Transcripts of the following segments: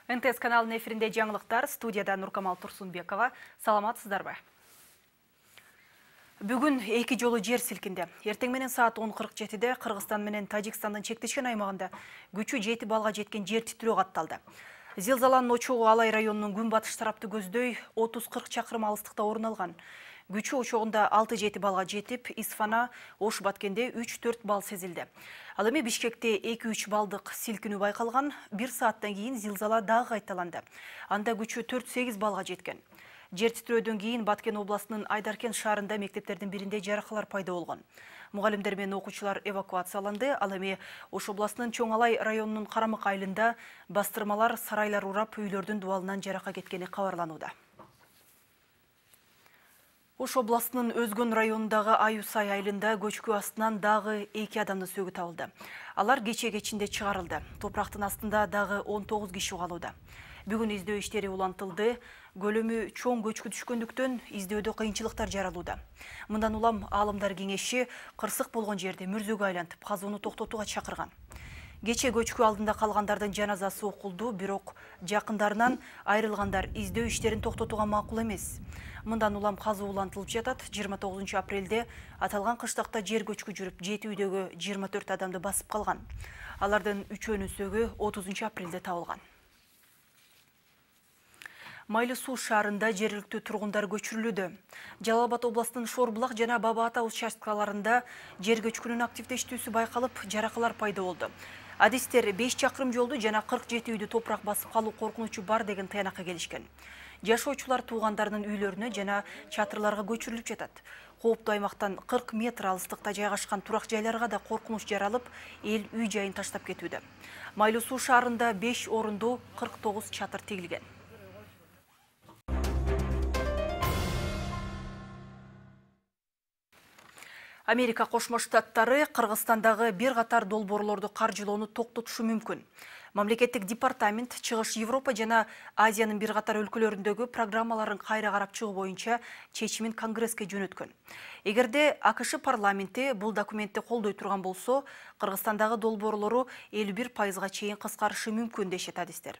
НТС каналынын эфиринде жаңылыктар, студияда Нуркамал Турсунбекова. Саламатсыздарбы? Бүгүн эки жолу жер силкинди. Эртең менен саат 10:47-де Кыргызстан менен Тажикстандын чектешкен аймагында күчү 7 балга жеткен жер титирөө катталды. Зилзаланын очогу Алай районунун күн-батыш тарапты көздөй 30-40 чакырым алыстыкта орун алган. Күчү очогунда 6-7 балга жетип, Исфана, Ош-Баткенде 3-4 бал сезилди. Ал эми Бишкекте 2-3 балдык силкинүү байкалган. 1 сааттан кийин зилзала дагы кайталанды. Анда күчү 4-8 балга жеткен. Жер титирөөдөн кийин Баткен областынын Айдаркен шаарында мектептердин биринде жаракалар пайда болгон. Мугалимдер менен окуучулар эвакуацияланды. Ал эми Ош областынын Чоң Алай районунун Карамык айылында бастырмалар, сарайлар урап, үйлөрдүн дубалынан жарака кеткени кабарланууда. Ош областынын Өзгөн районундагы Аюсай айылында көчкү астынан дагы 2 адамдын сөөгү табылды. Алар кече кечинде чыгарылды. Топурактын астында дагы 19 киши калууда. Бүгүн издөө иштери улантылды. Көлөмү чоң көчкү түшкөндүктөн издөөдө кыйынчылыктар жаралууда. Мындан улам аалымдар кеңеши кырсык болгон жерди мүрзөгө айлантып, казууну токтотууга чакырган. Кече көчкү алдында калгандардын жаназасы окулду, бирок жакындарынан айрылгандар издөө иштерин токтотууга макул эмес. Мындан улам казуу улантылып жатат. 29 апрелде аталган кыштакта жер көчкү жүрүп, 7 үйдөгү 24 адамды басып калган. Алардын 3өөнүн сөөгү 30 апрелде табылган. Майлы суу шаарында жергиликтүү тургундар көчүрүлүүдө. Жалал Абад областынын Шорбулак жана Баба Ата участкаларында жер көчкүнүн активдештүүсү байкалып, жаракалар пайда болду. Адистер 5 чакырым жолду жана 47 үйдү топурак басып калуу коркунучу бар деген таянакка келишкен. Жашоочулар туугандарынын үйлөрүнө жана чатырларга көчүрүлүп жатат. Кооптуу аймактан 40 метр алыстыкта жайгашкан турак жайларга да коркунуч жаралып, эл үй жайын таштап кетүүдө. Майлы суу шаарында 5 орундуу 49 чатыр тигилген. Америка Кошмо Штаттары Кыргызстандагы бир катар долбоорлорду каржылоону токтотушу мүмкүн. Мамлекеттик департамент Чыгыш Европа жана Азиянын бир катар өлкөлөрүндөгү программаларын кайра карап чыгуу боюнча чечимин Конгресске жөнөткөн. Эгерде АКШ парламенти бул документти колдой турган болсо, Кыргызстандагы долбоорлору 51%га чейин кыскарышы мүмкүн дешет адистер.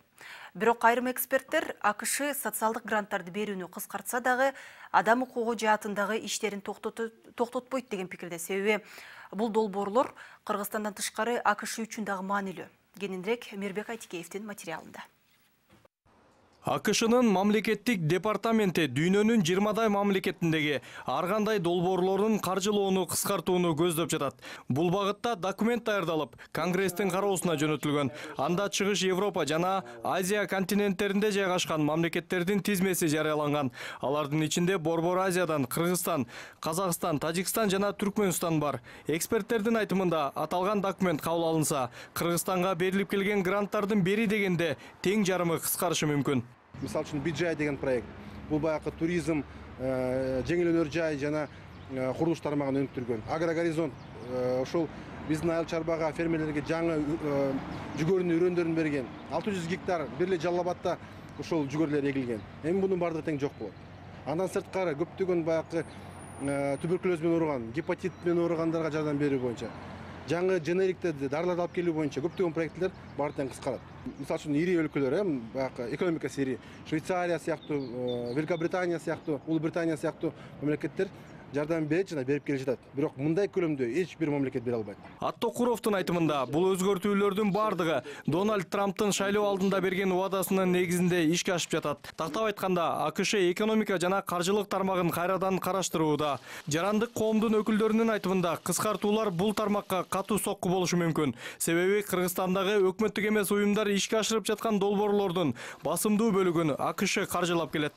Бирок айрым эксперттер АКШ социалдык гранттарды берүүнү кыскартса дагы адам укугу жаатындагы иштерин токтотпойт деген пикирде. Себеби бул долбоорлор Кыргызстандан тышкары АКШ үчүн дагы маанилүү. Кененирээк Мирбек Айтикеевдин материалында. АКШнын мамлекеттик департаменти дүйнөнүн 20 мамлекетиндеги ар кандай долбоорлордун каржылоону кыскартууну көздөп жатат. Бул багытта документ даярдалып, Конгресстин кароосуна жөнөтүлгөн. Анда Чыгыш Европа жана Азия континенттеринде жайгашкан мамлекеттердин тизмеси жарыяланган. Алардын ичинде Борбор Азиядан Кыргызстан, Казакстан, Тажикстан жана Түркмөнстан бар. Эксперттердин айтымында аталган документ кабыл алынса, Кыргызстанга берилип келген гранттардын бери дегенде тең жарымы кыскарышы мүмкүн. Мисал үчүн Биджай деген проект. Бул баягы туризм, жеңил жай жана курулуш тармагын өнүктүргөн. Агрогоризонт ошол биздин айыл чарбага фермерлерге жаңы жүгөрүнүн үрөндөрүн берген. 600 гектар бир эле Жалал Абадта ошол жүгөрлөр эгилген. Эми мунун бардыгы тең жок болот. Андан сырткары көптөгөн баягы туберкулез менен ооруган, гепатит менен ооругандарга жардам берүү боюнча, жаңы женериктерди, дарыларды алып келүү боюнча көптөгөн проекттер баары тең кыскарат. Мисал үчүн ири өлкөлөр, баягы экономикасы ири, Швейцария сыяктуу, Великобритания сыяктуу, Улуу Британия сыяктуу мамлекеттер жардам берет жана берип келе жатат. Бирок мындай көлөмдө эч бир мамлекет бере албайт. Аттокуровдун айтымында бул өзгөртүүлөрдүн бардыгы Дональд Трамптын шайлоо алдында берген убадасынын негизинде ишке ашып жатат. Тактап айтканда, АКШ экономика жана каржылык тармагын кайрадан караштырууда. Жарандык коомдун өкүлдөрүнүн айтымында кыскартуулар бул тармакка катуу сокку болушу мүмкүн. Себеби Кыргызстандагы өкмөттүк эмес уюмдар ишке ашырып жаткан долбоорлордун басымдуу бөлүгүн АКШ каржылап келет.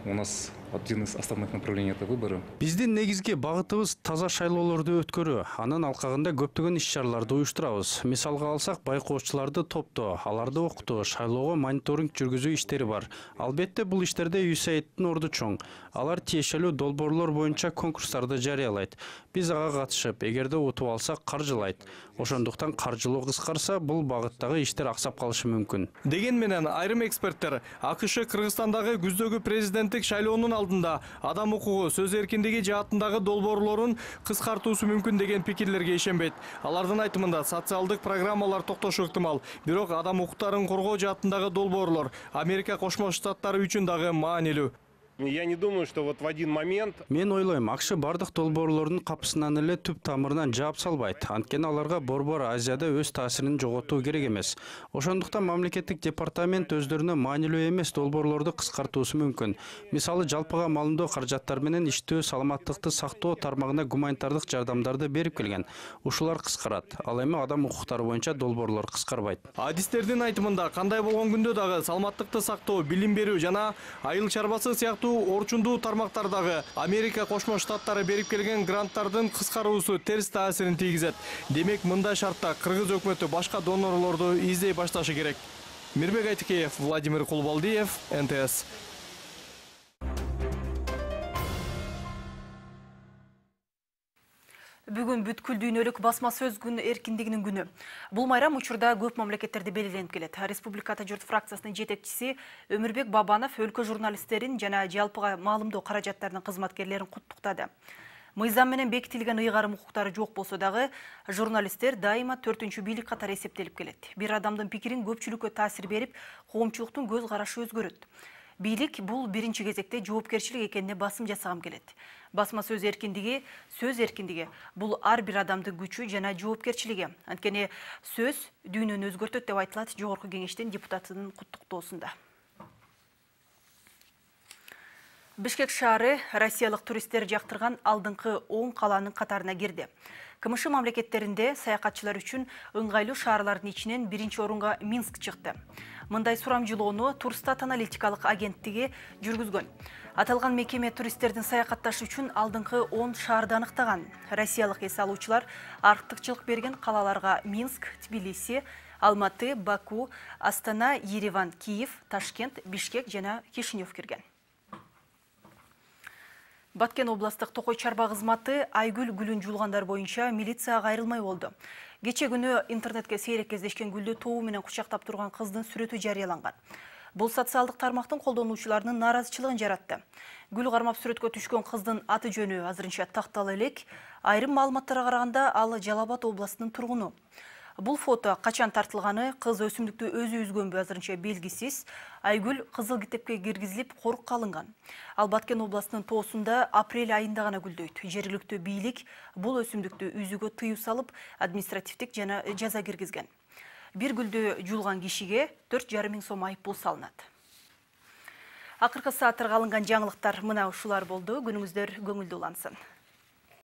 У нас один из основных направлений это выборы. Биздин негизги багытыбыз таза шайлоолорду өткөрүү. Анын алкагында көптөгөн иш-чараларды уюштурабыз. Мисалга алсак, байкоочуларды топтоо, аларды окутуу, шайлоого мониторинг жүргүзүү иштери бар. Албетте бул иштерде USAIDтин орду чоң. Алар тиешелүү долбоорлор боюнча конкурстарды жарыялайт. Биз ага катышып, эгерде утуп алсак каржылайт. Ошондуктан каржылоо кыскарса, бул багыттагы иштер аксап калышы мүмкүн. Деген менен айрым эксперттер АКШ Кыргызстандагы күздөгү президенттик шайлоонун алдында адам укугу, сөз эркиндиги жаатындагы долбоорлорун кыскартуусу мүмкүн деген пикирлерге ишенбейт. Алардын айтымында социалдык программалар токтошу ыктымал. Бирок адам укуктарын коргоо жаатындагы долбоорлор Америка Кошмо Штаттары үчүн дагы маанилүү. Я не думаю, что вот в один момент... Мен ойлойм, АКШ бардык долбоорлордун капысынан эле түп тамырынан жаап салбайт. Анткени аларга Борбор Азияда өз таасирин жоготуу керек эмес. Ошондуктан мамлекеттик департамент өздөрүнө маанилүү эмес долбоорлорду кыскартуусу мүмкүн. Мисалы, жалпыга маалымдоо каражаттар менен иштөө, саламаттыкты сактоо тармагына гуманитардык жардамдарды берип келген. Ушулар кыскарат. Ал эми адам укуктары боюнча долбоорлор кыскарбайт. Адистердин айтымында кандай болгон күндө дагы саламаттыкты сактоо, билим берүү жана айыл чарбасы сыяктуу орчундуу тармактардагы Америка Кошмо Штаттары берип келген гранттардын кыскаруусу терс таасирин тийгизет. Демек, мындай шартта кыргыз өкмөтү башка донорлорду издей башташы керек. Мирбек Айтыкеев, Владимир Кулбалдиев, НТС. Бүгүн бүткүл дүйнөлүк басма сөз күн эркиндигинин күнү. Бул майрам учурда көп мамлекеттерде белгиленип келет. Республиката журт фракциясынын жетекчиси Өмүрбек Бабанов өлкө журналисттерин жана жалпыга маалымдоо каражаттарынын кызматкерлерин куттуктады. Мыйзам менен бекитилген ыйгарым укуктары жок болсо дагы, журналисттер дайыма 4-чү бийлик катары эсептелип келет. Бир адамдын пикирин көпчүлүккө таасир берип, коомчулуктун көз карашы өзгөрөт. Бийлик бул биринчи кезекте жоопкерчилик экенине басым жасагым келет. Басма сөз эркиндиги бул ар бир адамдын күчү жана жоопкерчилиги. Анткени сөз дүйнөнү өзгөртөт деп айтылат Жогорку Кеңештин депутатынын куттуктоосунда. Бишкек шаары россиялык туристтер жактырган алдыңкы 10 каланын катарына кирди. КМШ мамлекеттеринде саякатчылар үчүн ыңгайлуу шаарлардын ичинен биринчи орунга Минск чыкты. Мындай сурамжылоону Турстат аналитикалык агенттиги жүргүзгөн. Аталган мекеме туристтердин саякатташы үчүн алдыңкы 10 шаарды аныктаган. Россиялык эс алуучулар артыкчылык берген калаларга Минск, Тбилиси, Алматы, Баку, Астана, Ереван, Киев, Ташкент, Бишкек жана Кишинев кирген. Баткен областык Токой чарба кызматы Айгүл гүлүн жулгандар боюнча милицияга кайрылмай болду. Кече күнү интернетке сейрек кездешкен гүлдү тобу менен кучактап турган кыздын сүрөтү жарыяланган. Бул социалдык тармактын колдонуучуларынын нааразычылыгын жаратты. Гүл кармап сүрөткө түшкөн кыздын аты жөнү азырынча тактала элек. Айрым маалыматтарга караганда ал Жалал Абад областынын тургуну. Бул фото качан тартылганы, кыз өсүмдүктү өзү үзгөнбү азырынча белгисиз. Айгүл кызыл китепке киргизилип корукка алынган. Ал Баткен областынын тоосунда апрель айында гана гүлдөйт. Жергиликтүү бийлик бул өсүмдүктү үзүүгө тыюу салып, административдик жана жаза киргизген. Бир гүлдү жулган кишиге 4,5 миң сом айыппул салынат. Акыркы сааттарга алынган жаңылыктар мына ушулар болду. Күнүңүздөр көңүлдүү улансын.